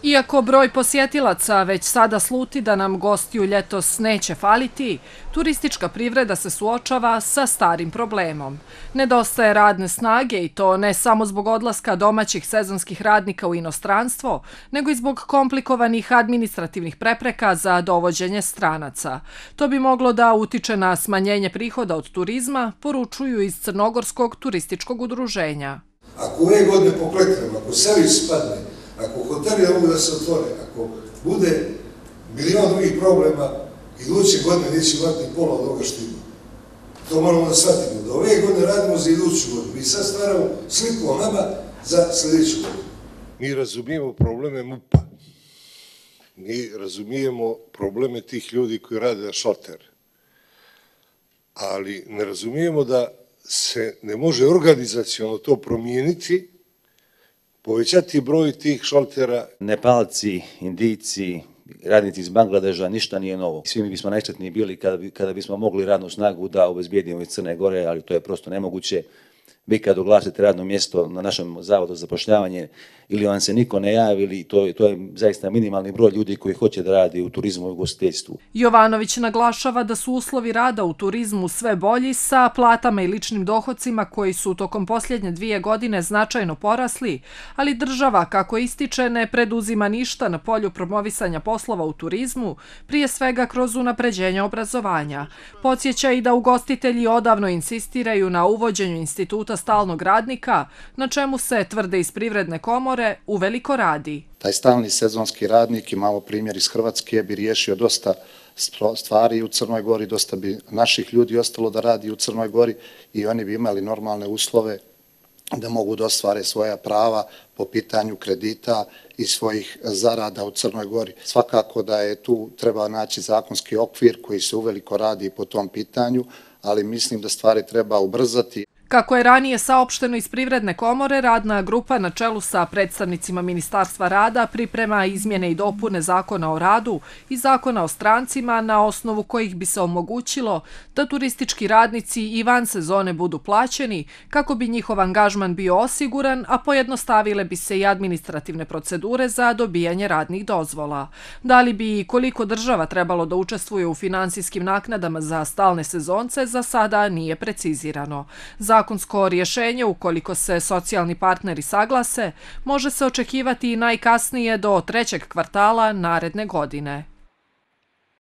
Iako broj posjetilaca već sada sluti da nam gostiju ljetos neće faliti, turistička privreda se suočava sa starim problemom. Nedostaje radne snage i to ne samo zbog odlaska domaćih sezonskih radnika u inostranstvo, nego i zbog komplikovanih administrativnih prepreka za dovođenje stranaca. To bi moglo da utiče na smanjenje prihoda od turizma, poručuju iz Crnogorskog turističkog udruženja. Ako ove godine pokleknemo, ako servis spadne, ako hoteli ne mogu da se otvore, ako bude milion drugih problema, iduće godine neće imati ni pola od ovoga što ima. To moramo da shvatimo. Da ove godine radimo za iduću godinu. Mi sad stvaramo sliku o nama za sljedeću godinu. Mi razumijemo probleme MUP-a. Mi razumijemo probleme tih ljudi koji rade na šalter. Ali ne razumijemo da se ne može organizacionalno to promijeniti, povećati broj tih šaltera. Nepalci, Indijci, radnici iz Bangladeža, ništa nije novo. Svi mi bismo najsretniji bili kada bismo mogli radnu snagu da obezbijedimo iz Crne Gore, ali to je prosto nemoguće. Vi kad oglasite radno mjesto na našem zavodu za zapošljavanje ili vam se niko ne javi, ili to je zaista minimalni broj ljudi koji hoće da radi u turizmu i ugostiteljstvu. Jovanović naglašava da su uslovi rada u turizmu sve bolji sa platama i ličnim dohocima koji su tokom posljednje 2 godine značajno porasli, ali država, kako ističe, ne preduzima ništa na polju promovisanja poslova u turizmu, prije svega kroz unapređenje obrazovanja. Podsjeća i da ugostitelji odavno insistiraju na uvođenju instituta stalnog radnika, na čemu se, tvrde iz Privredne komore, uveliko radi. Taj stalni sezonski radnik, imamo primjer iz Hrvatske, bi riješio dosta stvari u Crnoj Gori, dosta bi naših ljudi ostalo da radi u Crnoj Gori i oni bi imali normalne uslove da mogu da ostvare svoja prava po pitanju kredita i svojih zarada u Crnoj Gori. Svakako da je tu treba naći zakonski okvir koji se uveliko radi po tom pitanju, ali mislim da stvari treba ubrzati. Kako je ranije saopšteno iz Privredne komore, radna grupa na čelu sa predstavnicima Ministarstva rada priprema izmjene i dopune Zakona o radu i Zakona o strancima na osnovu kojih bi se omogućilo da turistički radnici i van sezone budu plaćeni kako bi njihov angažman bio osiguran, a pojednostavile bi se i administrativne procedure za dobijanje radnih dozvola. Da li bi i koliko država trebalo da učestvuje u finansijskim naknadama za stalne sezonce, za sada nije precizirano. Zakonsko rješenje, ukoliko se socijalni partneri saglase, može se očekivati i najkasnije do 3. kvartala naredne godine.